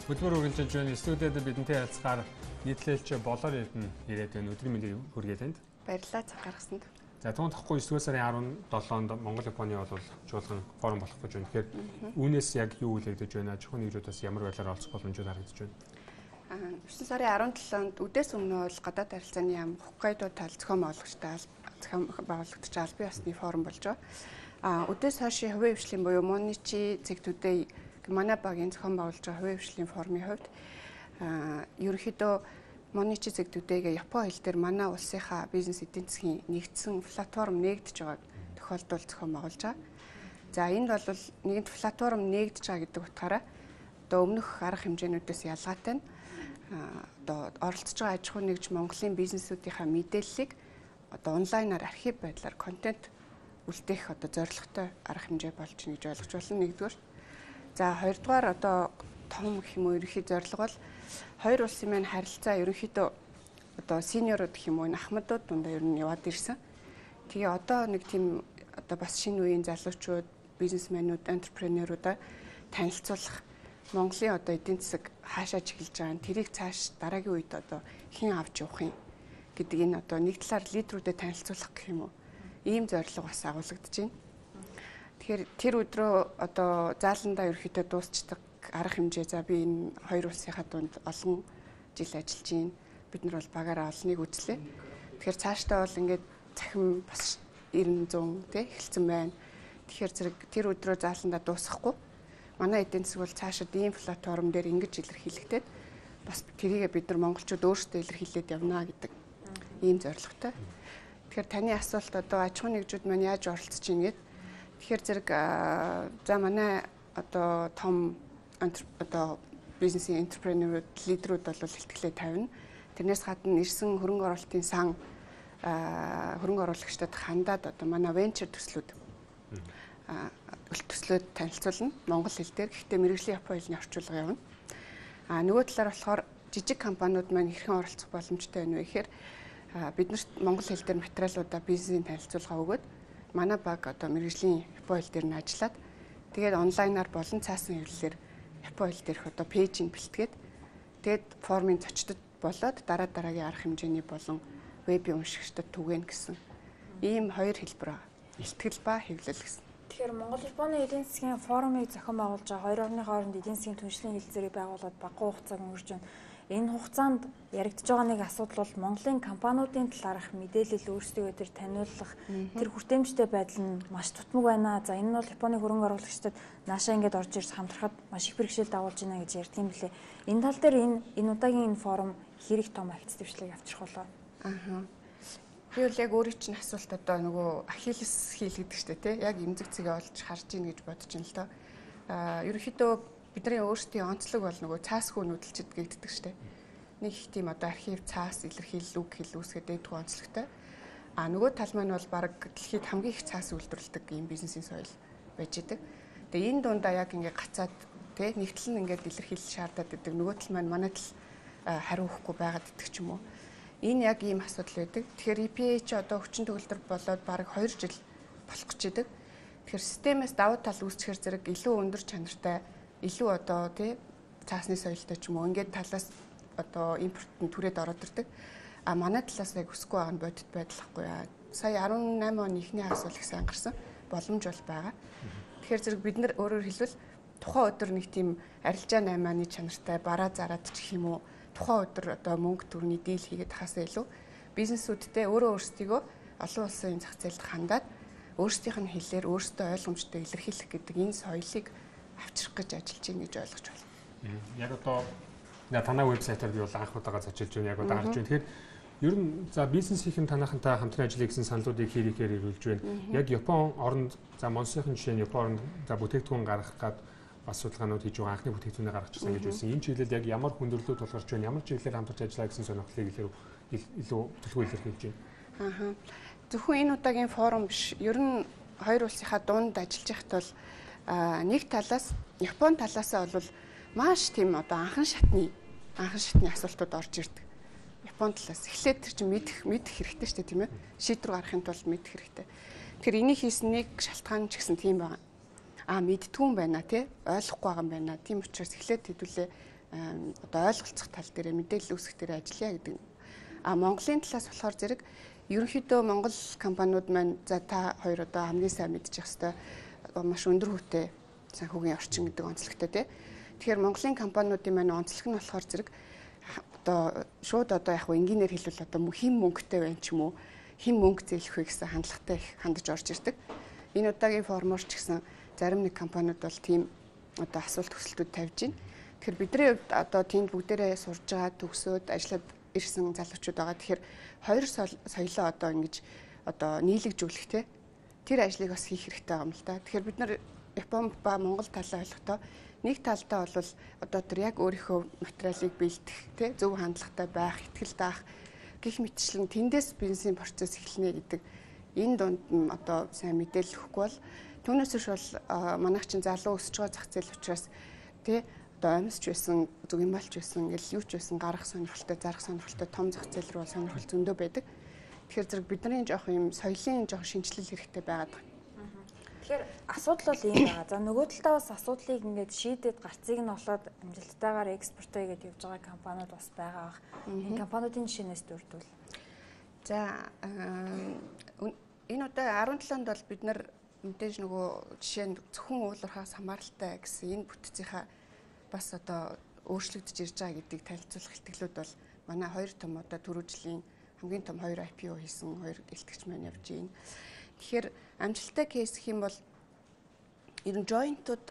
Хөдөлмөр үргэлжилж байна. Студиуд бидэнтэй харьцахаар нийтлэлч болоор ирээд байна. Өдрийн мэндийг хүргээд байна. Баярлалаа цаг гаргасанд. За түүнд тахгүй 9 сарын 17-нд Монгол Японы бол жуулган форум болох гэж байна. Тэгэхээр үүнээс яг юу үлэгдэж байна? Чухал нэгжүүдээс ямар байдлаар олцох боломжууд харагдаж байна? 9 сарын 17-нд үдээс өмнө бол гадаад харилцааны яам Хоккайдо тал зохион байгуулагч албан ёсны форум болж байгаа. Үдээс хойш хувийн хвшлийн буюу Моничи цэгтүүдээ манай багийн зохион байгуулж байгаа хувийн хвшлийн форумын хувьд ерөнхийдөө Моничи цэгтүүдээ Японы хэл дээр манай улсынхаа бизнес эдийн засгийн нэгдсэн платформ нэгдэж байгаа тохиолдолд зохион байгуулж байгаа. За энд бол нэгэн платформ нэгдэж байгаа гэдэг утгаараа одоо өмнөх арга хэмжээнүүдээс ялгаатай нь одоо оролцож байгаа аж ахуй нэгж Монголын бизнесүүдийнхаа мэдээллийг одоо онлайнаар архив байдлаар контент үлдээх одоо зорилготой арга хэмжээ болж байна гэж ойлгож байна нэгдүгээр. За хоёрдугаар одоо том гэх юм уу ерөнхий зорилго бол хоёр улсын маань харилцаа ерөнхийдөө одоо синьорууд гэх юм уу ахмадууд дундаа ер нь яваад ирсэн. Тэгээ одоо нэг тийм одоо бас шинэ үеийн залуучууд, бизнесмэнүүд, энтерпренеруудаа танилцуулах Монголын одоо эдийн засаг хаашаа чиглэж байгаа нь тэрийг цааш дараагийн үед одоо хэн авч явах юм гэдэг энэ одоо нэг талаар лидерүүдэд танилцуулах гэх юм уу ийм зорилго бас агуулгадж байна. Тэгэхээр тэр өдрөө одоо зааландаа ерөөхдөө дуусчдаг арга хэмжээ за би энэ хоёр улсынхаа дунд олон жил ажиллаж байна. Бид нар бол багаараа олныг үзлээ. Тэгэхээр цаашдаа бол ингээд цахим бас 90 100 тий эхэлсэн байна. Тэгэхээр зэрэг тэр өдрөө зааландаа дуусгахгүй манай эдийн засаг бол цаашид ийм платформ дээр ингэж илэрхийлэгдээд бас тэрийгээ бид нар монголчууд өөрсдөө илэрхийлээд явна гэдэг ийм зорилготой. Тэгэхээр таны асуулт одоо аж ахуй нэгжүүд маань яаж оролцож ийн гэдэг. Тэгэхээр зэрэг за манай одоо том одоо бизнесийн энтерпренерүүд, лидерүүд бол ихтгэлээ тавина. Тэрнээс гадна ирсэн хөрөнгө оруулалтын сан хөрөнгө оруулагчдад хандаад одоо манай венчур төслүүд төслүүд танилцуулна монгол хэл дээр. Гэхдээ мэргэжлийн Японы хэлний орчуулга явна. Нөгөө талаар болохоор жижиг компаниуд маань хэрхэн оролцох боломжтой байна вэ гэхээр биднэрт монгол хэл дээр материалуудаа бизнесийн танилцуулга өгөөд манай баг одоо мэргэжлийн Японы хэл дээр нь ажиллаад тэгээд онлайнаар болон цаасан хэвлэлээр Японы хэл дээрх одоо пэйжинг бэлтгээд тэгээд формын зочдод болоод дараагийн арга хэмжээний болон вебийн уншигчдад түгээн гэсэн ийм хоёр хэлбэр байгаа. Илтгэл ба хэвлэл гэсэн. Тэгэхээр Монгол-Японы эдийн засгийн форумыг зохион байгуулж байгаа хоёр орны хооронд эдийн засгийн түншлэлийн хэлцээрийг байгуулад багахан хугацааг өнгөрч байна. Энэ хугацаанд яригдж байгаа нэг асуудал бол Монголын компаниудын талаарх мэдээлэл өөрсдөө тэр таниулах тэр хүртээмжтэй байдал нь маш тутмаг байна. За энэ нь бол Японы хөрөнгө оруулагчдад наашаа ингэж орж ирж хамтрахад маш их бэрхшээл дагуулж байна гэж ярьдаг юм билээ. Энэ тал дээр энэ удаагийн энэ форум хэрэг том агц дэвшлиг авчрах болоо. Би бол яг өөрийн чинь асуулт одоо нөгөө ахиллес хийл гэдэг чтэй тий яг эмзэг цэгээ олж харж ийн гэж бодож байна л доо. Ерөнхийдөө бидний өөрсдийн онцлог бол нөгөө цаас хүү нүүдэлчд гэгддэг чтэй. Нэг их тийм одоо архив цаас илэрхийлэл үг хэл үүсгээд дэдгүү онцлогтой. Нөгөө тал маань бол баг дэлхийд хамгийн их цаас үйлдвэрлэдэг ийм бизнесийн соёл байж идэг. Тэгээ энэ дундаа яг ингээ гацаад тий нэгтэл нь ингээд илэрхийлэл шаардаад идэг. Нөгөө тал маань манай тал хариу өгөхгүй байгаад идэг ч юм уу. Энэ яг ийм асуудал байдаг. Тэгэхээр EPA ч одоо хүчин төгөлдөр болоод бараг 2 жил болох гэж идэг. Тэгэхээр системээс давуу тал үүсчихэр зэрэг илүү өндөр чанартай, илүү одоо тий цаасны соёлтой ч юм уу ингээд талаас одоо импортын түрээд ороод ирдэг. Манай талаас яг өсөхгүй байгаа нь бодит байдал ахгүй яа. Сая 18 оны ихний асуул их сайн гарсан боломж бол байгаа. Тэгэхээр зэрэг бид нар өөрөөр хэлбэл тухайн өдөр нэг тийм арилжаа 8-ны чанартай бараа зараад ч гэх юм уу тухайн өдөр одоо мөнгө төрний дийл хийгээд хасаа илүү бизнесүүдтэй өөрөө өөрсдийгөө олон улсын зах зээлд хандаад өөрсдийнх нь хэлээр өөрсдөө ойлгомжтой илэрхийлэх гэдэг энэ соёлыг авчрах гэж ажиллаж байна гэж ойлгож байна. Яг одоо танай вебсайтаар би бол анх удаага зочилж байна. Яг удаа гарч байна. Тэгэхээр ер нь за бизнесийн танахантай хамтран ажиллая гэсэн саналуудыг хийхээр ирүүлж байна. Яг Япон оронд за Монсын жишээ нь Япон оронд за бүтээгдэхүүн гаргах гад бас судалгаанууд хийж байгаа анхны бүтээгдэхүүнээ гаргачихсан гэж байсан. Энэ чиглэлд яг ямар хүндрэлүүд тулгарч байна, ямар чиглэлээр хамтарч ажиллаа гэсэн сонирхлыг илүү төлөвлөгөө илэрхийлж байна. Зөвхөн энэ удаагийн форум биш. Ер нь хоёр улсынхаа дунд ажиллаж байхад бол нэг талаас Япон талаасаа бол маш тийм одоо анхан шатны асуултууд орж ирдэг. Япон талаас эхлээд тэр чинь мэдэх хэрэгтэй шүү дээ тийм ээ. Шийдвэр гаргахын тулд мэдэх хэрэгтэй. Тэгэхээр энийг хийсэн нэг шалтгаан ч гэсэн тийм байна. Мэдтгүүн байна тий ойлгохгүй байгаа юм байна. Тийм учраас эхлээд хэдүүлээ одоо ойлголцох тал дээр мэдээлэл үүсгэх дээр ажиллая гэдэг. Монголын талаас болохоор зэрэг ерөнхийдөө Монгол компаниуд маань за та хоёр одоо хамгийн сайн мэдчих хэвээр маш өндөр хүүтэй санхүүгийн орчин гэдэг онцлогтой тий. Тэгэхээр Монголын компаниудын маань онцлог нь болохоор зэрэг одоо шууд одоо яг энгийнээр хэлвэл одоо хэн мөнгөтэй байна ч юм уу, хэн мөнгө зээлэх вэ гэсэн хандлагатай их хандаж орж ирдэг. Энэ удаагийн формоор ч гэсэн зарим нэг компаниуд бол тийм одоо асуулт төсөлтүүд тавьж байна. Тэгэхээр бидний хувьд одоо тэнд бүгдээрээ сурж байгаа төгсөөд ажиллаад ирсэн залуучууд байгаа. Тэгэхээр хоёр соёлоо одоо ингэж одоо нийлэгжүүлэх те тэр ажлыг бас хийх хэрэгтэй байгаа юм л да. Тэгэхээр бид нар Япон ба Монгол талаа ойлгохдоо нэг талдаа бол одоо тэр яг өөрийнхөө материалыг бэлдэх те зөв хандлагатай байх, ихтгэл даах гэх мэтчлэн тэндээс бизнесийн процесс эхэлнэ гэдэг энэ дунд нь одоо сайн мэдээлэл өгөхгүй бол түүнээс биш бол манайх чинь залуу өсөж байгаа зах зээл учраас те одоо амьсч байсан, зүг юм болж байсан, ингээл юу ч байсан гарах сонирхолтой, зарах сонирхолтой том зах зээл рүү сонирхол зөндөө байдаг. Тэгэхээр зэрэг бидний жоох юм соёлын жоох шинжилэл хэрэгтэй байгаад байна. Тэгэхээр асуудал бол ийм байгаа. За нөгөө талдаа бас асуудлыг ингээд шийдээд гарцыг нь олоод амжилттайгаар экспортоо хийгээд явж байгаа компаниуд бас байгаа. Энэ компаниудын жишээнээс дурдвал. За энэ удаа 17-нд бол бид нар мэдээж нөгөө жишээ нь зөвхөн уулуурхаас хамааралтай гэсэн энэ бүтцийнхаа бас одоо өөрчлөгдөж ирж байгаа гэдгийг танилцуулах ихтгэлүүд бол манай хоёр том одоо түрүү жилийн хамгийн том 2 IPO хийсэн 2 элтгэгч маань явж байна. Тэгэхээр амжилттай кейс гэх юм бол ер нь joint-ууд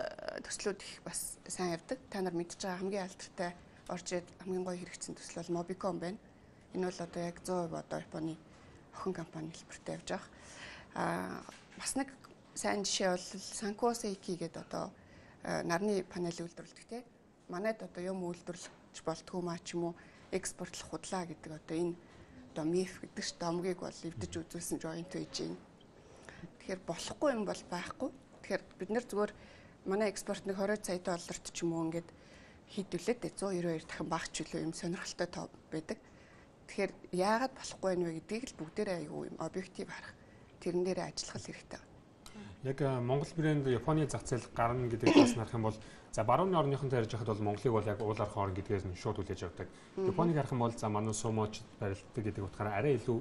төслүүд их бас сайн явдаг. Та нар мэдж байгаа хамгийн алдартай орж ирээд хамгийн гоё хэрэгцсэн төсөл бол Mobicom байна. Энэ бол одоо яг 100% одоо Японы охин компани хэлбэртэй явж байгаа. Бас нэг сайн жишээ бол Sanko Seiki гэдэг одоо нарны панель үйлдвэрлэдэг те. Манайд одоо юм үйлдвэрлэж болтгүй маа ч юм уу экспортлох худлаа гэдэг одоо энэ одоо миф гэдэг ч домгийг бол эвдэж үзүүлсэн joint байж байна. Тэгэхээр болохгүй юм бол байхгүй. Тэгэхээр бид нэр зүгээр манай экспорт нэг 20 сая долларт ч юм уу ингээд хийдүүлээд 192 дахин багч үлээ юм сонирхолтой тоо байдаг. Тэгэхээр яагаад болохгүй вэ гэдгийг л бүгдээрээ аюу юм объектив харах. Тэрэн дээрээ ажиллах хэрэгтэй. Яг Монгол брэнд Японы зах зээл гарна гэдэг бас нарах юм бол за баруун орныхонтой ярьж байхад бол Монголыг бол яг уулаар хоорон гэдгээс нь шууд хүлээж авдаг. Японыг харах юм бол за манай сумоч барилддаг гэдэг утгаараа арай илүү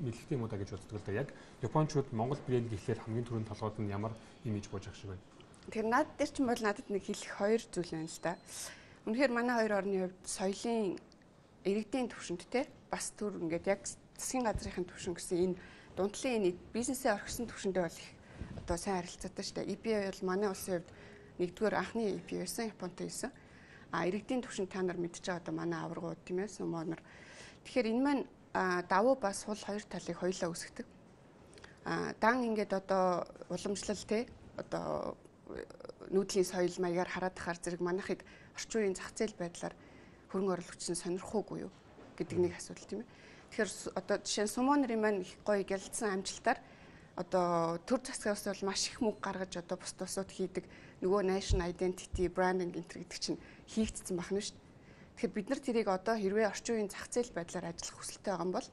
мэдлэгтэй юм уу да гэж боддог л да. Яг Япончууд Монгол брэнд гэхлээр хамгийн түрүүнд толгойд нь ямар имиж бууж ах шиг байна. Тэгэхээр над дээр ч юм бол надад нэг хэлэх хоёр зүйл байна л да. Үнэхээр манай хоёр орны хувьд соёлын иргэдийн төвшөнд те бас түр ингээд яг засгийн газрын төвшин гэсэн энэ дундлын энэ бизнесээ орхисон төвшөндөө бол их одоо сайн харилцаатай шүү дээ. EPA бол манай улсын хувьд нэгдүгээр анхны EPA байсан, Японтой байсан. Иргэдийн төвшин та нар мэдж байгаа одоо манай аваргууд тийм ээ, сумонор. Тэгэхээр энэ маань давуу ба сул хоёр талыг хоёулаа үүсгдэг. Дан ингээд одоо уламжлал те одоо нүүдлийн соёл маягаар хараад тахаар зэрэг манайхыг орчин үеийн зах зээл байдлаар хөрөнгө оруулагч нь сонирхоогүй юу гэдэг нэг асуудал тийм ээ. Тэгэхээр одоо жишээ нь сумонорын маань их гоё гялдсан амжилтаар одоо төр засгаас бол маш их мөнгө гаргаж одоо бус тусууд хийдэг нөгөө national identity branding гэдэг чинь хийгдсэн байна шүү дээ. Тэгэхээр бид нар тэрийг одоо хэрвээ орчин үеийн зах зээл байдлаар ажиллах хүсэлтэй байгаа юм бол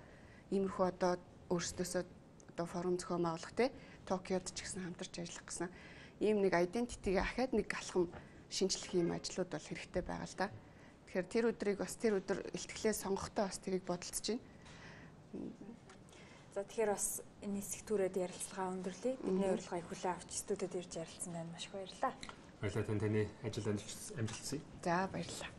иймэрхүү одоо өөрсдөөсөө одоо форум зохион байгуулах те Токиод ч гэсэн хамтарч ажиллах гэсэн ийм нэг identity-г ахаад нэг алхам шинжлэх юм ажлууд бол хэрэгтэй байгаа л да. Тэгэхээр тэр өдрийг бас тэр өдөр илтгэлээ сонгохдоо бас тэрийг бодолцож байна. За тэгэхээр бас энэ сектүүрээд ярилцлага өндөрлөе. Бидний урилгыг хүлээн авч студиуд ирж ярилцсан байна. Маш их баярлалаа. Баярлалаа таны ажил амжилт хүсье. За баярлалаа.